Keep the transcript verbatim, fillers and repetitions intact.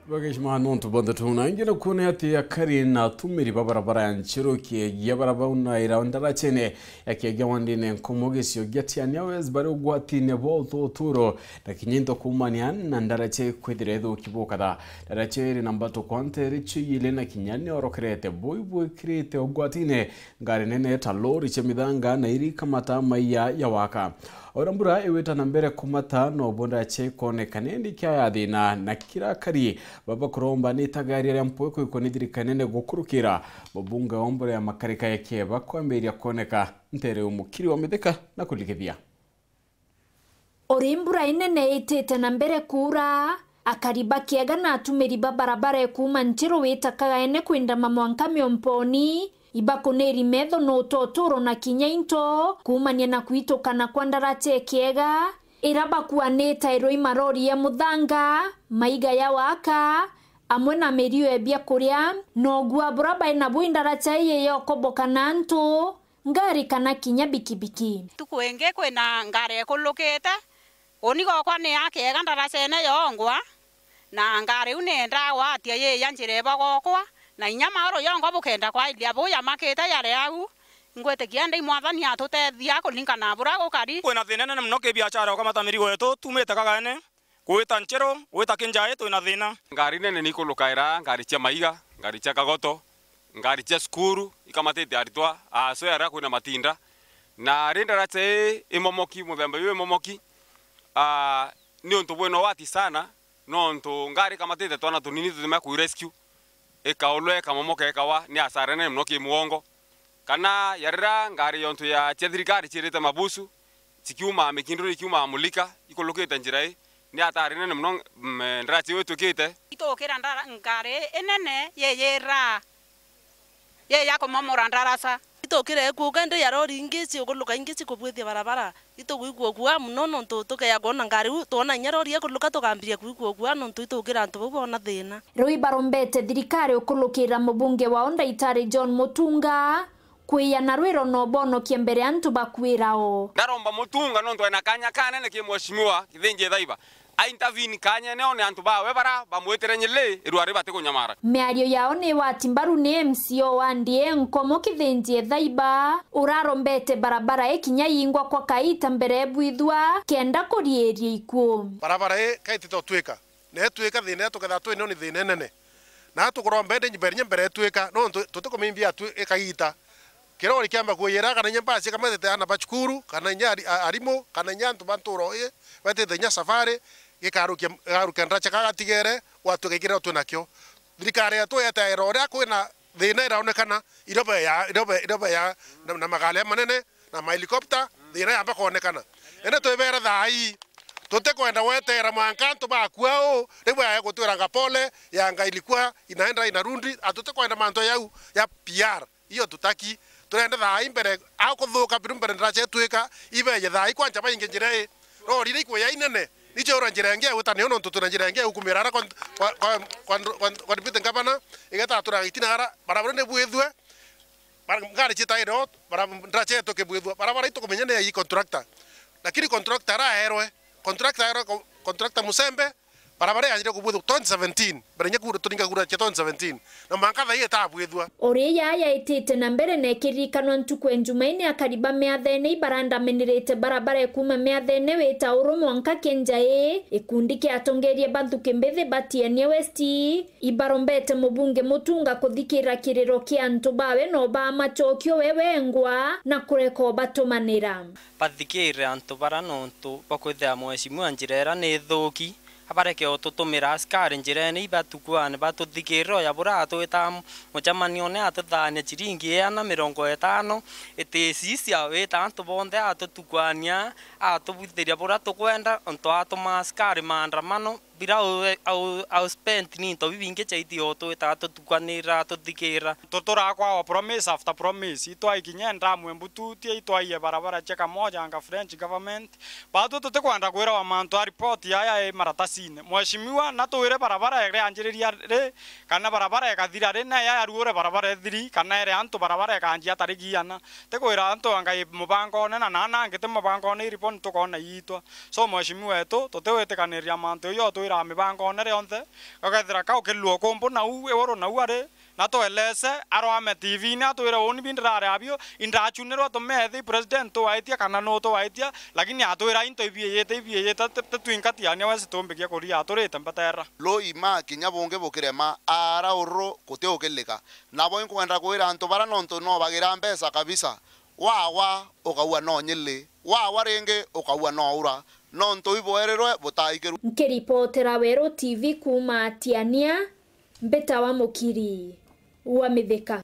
Bagishima nontu bonthe tuna ingi na kuona ati akari na atumiri ba barabara ya Nchiru Kiegia barabaunaira ndarachene ya Kiegia wandine Nkomo gicio gia Tiania West bari ugwatine bwa ututuro na kinya into kuumania na ndarache kwithira ithuki bukatha. Ndarache iri na mbatu kwa ntere ciu ili na kinya ni orokerete bui bwikirite ugwatine ngari nene ta lori cia mithanga na iri kamata maiya ya waka. Ora mbura iwita na mbere kumata, no bo ndarache ikonekane ni kia ya thina na kira akari baba kuromba ni itagaria ria mpweko ikoni thirikari nene gukurukira mubunge wa mbura ya makarika ya Kieba kwambiria kuoneka ntere umukiri wa mithika na kuligithia. Uri mbura inene itite na mbere kuura, akari ba Kiega na atumiri ba barabara ikuuma Nchiru wita Kagaene kwindama mwanka Miomponi, ibakuniri metho no utoturo na kinya into kuumania na kwitukana kwa ndarache Kiega, ira bakuanite irui marori ya muthanga, maiga ya waka, amwe na mirio ya biakuria, na ugua bura bai nabu indaracha ii yokoboka na antu, ngari kana kinya bikibiki. Ntuku ingi kwina ngari ikulukite, uni gokwa ni ya Kiega ndarachene yongwa, na ngari iu ni ndagwatia yi ya njira ibagokwa, na inya mauru yongwa bukenda kwairia buu yamakite yari au. Ngwitikia ndi Mwathani atutethia kuringana na bura gukari. Kwina thina nene mono ki biachara ukamata mirigo yetu tumite Kagaene. Gwita Nchiru, gwita Kinjai, twina thina. Ngari nene ni ikulukaira, ngari cia maiga, ngari cia kagoto, ngari cia cukuru, ikamatite aritwa, asoe aria kwina matinda. Na ri ndaracha ii imomoki, muthemba uyu imomoki, ah, ni untu bwina ugwati sana, nontu ngari ikamatite twana tunini tutumia ku rescue, ikaulwa, ikamomoka, ikawa, ni asara nene mono ki mugongo. Kana ya riria ngari yontu ya cia thirikari ciirite mabusu, cikiumaa Mikinduri, ikiumaa Mulika, ikulukite njira ii, ni atari nene mono, mm, ndaracha iu itukite. Itukira ndara-, ngari inene yiyira, yi ya kumomora ndaracha. Itukire ikuuka, indi ya rori ingi ciukuluka, ingi cikubwithia barabara. Itugwigua guaa mono nontu tukeya kwona ngari iu, twona inya rori ikuluka tukambiria kwigua guaa nontu itukira antu bau boona thina. Riu ibarombete thirikari ukulukira mubunge wao Ndaitari John Mutunga, kwiyana rwiro na ubonokia mbere antu bakwira o. Ndaromba Mutunga nontu ena kanya kanene ki mheshimiwa Kithinji Ethaiba. A intervene kanyene one antu bawe bara bamwitire nyili irwari batikunyamara. Miario yao ni wati mbaru ni M C A wa Ndie Nkomo Kithinji Ethaiba, urarombete barabara ikinya yingwa kwa kaita mbere ebwithwa kenda kuriiria ikuo. Barabara ii kaitite utwika, na itwika thina iria tukethaa twinio ni thina inene. Na tukuromba indi mbere mbere itwika, nontu tutikumimbia tu ikagiita. Kirori kiamba kuyira, kana inya mbasi ikamatete aana ba cukuru, kana inya ari-, a-, arimu, kana inya antu ba ntuura ii, betite inya safari, gikarukia, gikarukia ndaracha kagatigere, gwatuika ikirira twinakio. Thirikari yetu yetaira uria kwina thina iraonekana, irobe ya, irobe, irobe ya, na, na magari manene, na mahelikopta, thina yamba kwonekana. Indi twibere thaa ii, tutikwenda gweteera mwanka antu bakua uu, riu ya gutwiranga pole, yanga ilikuwa inaenda inarudi, a, tutikwenda mantu yau ya P R. Hiyo tutaki. Turenda thaa ii mbere, a kuthuka biru mbere ndiracha itwika, ibeje thaa ii kwanja bainge njira ii. Rori iri ikuya inene, nicio ura njira ingi ya gwita niyo nontu twina njira ingi ya gukumira ara kwa, kwa, kwa, kwa, kwa, kwa deputy governor, igeta turaga itina ara, barabara ni bwithue, bara-, ngari ciita iro, bara-, ndiracha itukibwithua, barabara itukumenya ni ya ii contractor. Lakini contractor araerwe, contractor aerwe ko-, contractor Musembe, barabara yaanjire kubwithua twenty seventeen, mbere nya kura, turinga kura cia twenty seventeen, na mwanka thaa ii itabwithua. Uri yaya itite na mbere na ikirikanwa ntuku ya Njumaine akari ba Miathene ibarandamenirite barabara ikuuma Miathene wita uru mwanka Kenjai, ikundi kia atongeria ba nthuki mbithi ba Tiania West, ibarombete mubunge Mutunga kuthikira kiriro kia antu bawe na ubaa macokio we wengwa na kureka ubatumanira. Bathikire antu bara nontu bakwithira mheshimiwa njira ira ni thuki, abareke ututumira askari njirene ibatukwane batuthikirire oya bura atwita mucemanione atuthaania ciringi iana mirongo itano iticicia wita antu bonthe atutukwania atubwithiria bura tukwenda nontu atuma askari maandamano. Bira au, au, au spent ni into bibingi chaiti o twitaga tutukwanira tuthikira. Tuturaa kwa our promise after promise. Itwaikinya ndamu embututie, itwaie barabara cia Kamoja anga French government. Batu tutikwenda kwirawa mantu a report yaya i maratasine. Mheshimiwa, na twire barabara irianjiriria ri, kana barabara ikathira ri, na yaya ruure barabara ithiri, kana ere antu barabara ikanjia tariki iana. Tikwira antu anga i mubangone, na nana angi ti mubangone, i report tukoona iitwa. So, mheshimiwa wetu, tutiwitikaniria mantu iyo, Twira mibango one rionthe, gakethira kau kilua ukumbu nau iuru nau ari, na twelese, arwame T V-ini atwire, "Uuni bi ndirari abio, indachunirwe tumethi, president tuwaitia kana nu tuwaitia, lakini atwira into ibiiyite, ibiiyite, ti, ti twinka tiania wesi tumbikia kuria, aturite mbatera." Loi ma kinya bungi bukirema, ara ururu guti ukilika. Nabo inkwenda kwira antu bara nontu no bagira mbeca kabisa, wawa ukaua no nyili, wawa ringi ukaua no ura, nontu ibwerirwe butaikiru. Nkiripotera Weru T V kuuma Tiania, mbitawa Mukiri wa Mithika.